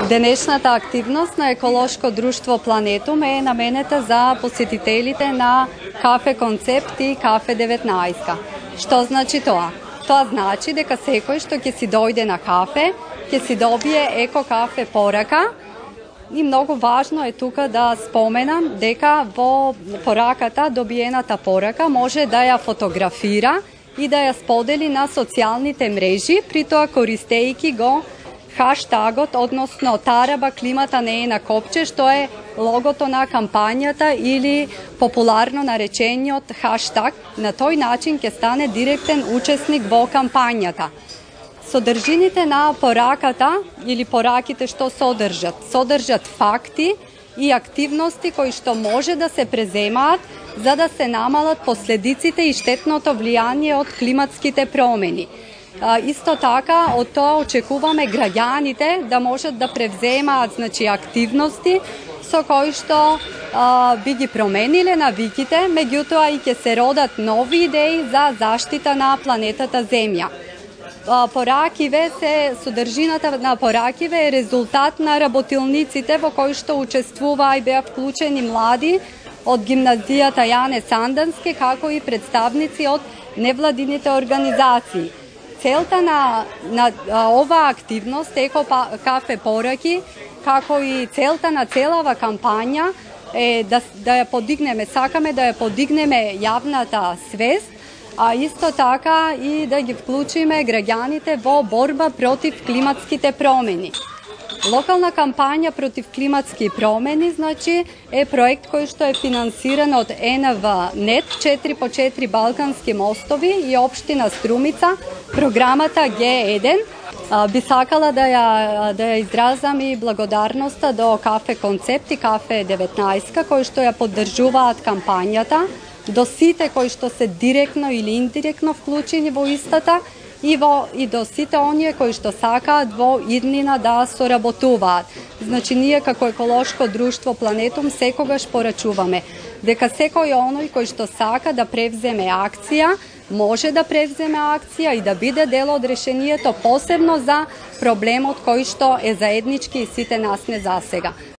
Денешната активност на еколошко друштво Планетум е наменета за посетителите на Кафе Концепт и Кафе 19. Што значи тоа? Тоа значи дека секој што ќе си дојде на кафе, ќе си добие еко кафе порака. И многу важно е тука да споменам дека во пораката, добиената порака, може да ја фотографира и да ја сподели на социјалните мрежи, при тоа користејќи го хаштагот, односно тараба климата не е на копче, што е логото на кампањата или популарно наречениот хаштаг. На тој начин ќе стане директен учесник во кампањата. Содржините на пораката или пораките што содржат факти и активности кои што може да се преземаат за да се намалат последиците и штетното влијание од климатските промени. Исто така, од тоа очекуваме граѓаните да можат да превземаат активности со кои што би ги промениле навиките, меѓутоа и ќе се родат нови идеи за заштита на планетата Земја. Содржината на поракиве е резултат на работилниците во кои што учествуваа и беа вклучени млади од гимназијата Јане Сандански, како и представници од невладините организации. Целта на оваа активност, еко кафе пораки, како и целта на целава кампања е да ја подигнеме, сакаме да ја подигнеме јавната свест, а исто така и да ги вклучиме граѓаните во борба против климатските промени. Локална кампања против климатски промени е проект кој што е финансиран од НВ-нет 4x4 Балкански мостови и општина Струмица, програмата Г1. Би сакала да ја изразам и благодарноста до Кафе Концепт и Кафе 19 кои што ја поддржуваат кампањата, до сите кои што се директно или индиректно вклучени во истата и до сите оние кои што сакаат во иднина да соработуваат. Ние како еколошко друштво Планетум секогаш порачуваме дека секој оној кој што сака да превземе акција, може да превземе акција и да биде дел од решението, посебно за проблемот кој што е заеднички и сите нас не засега.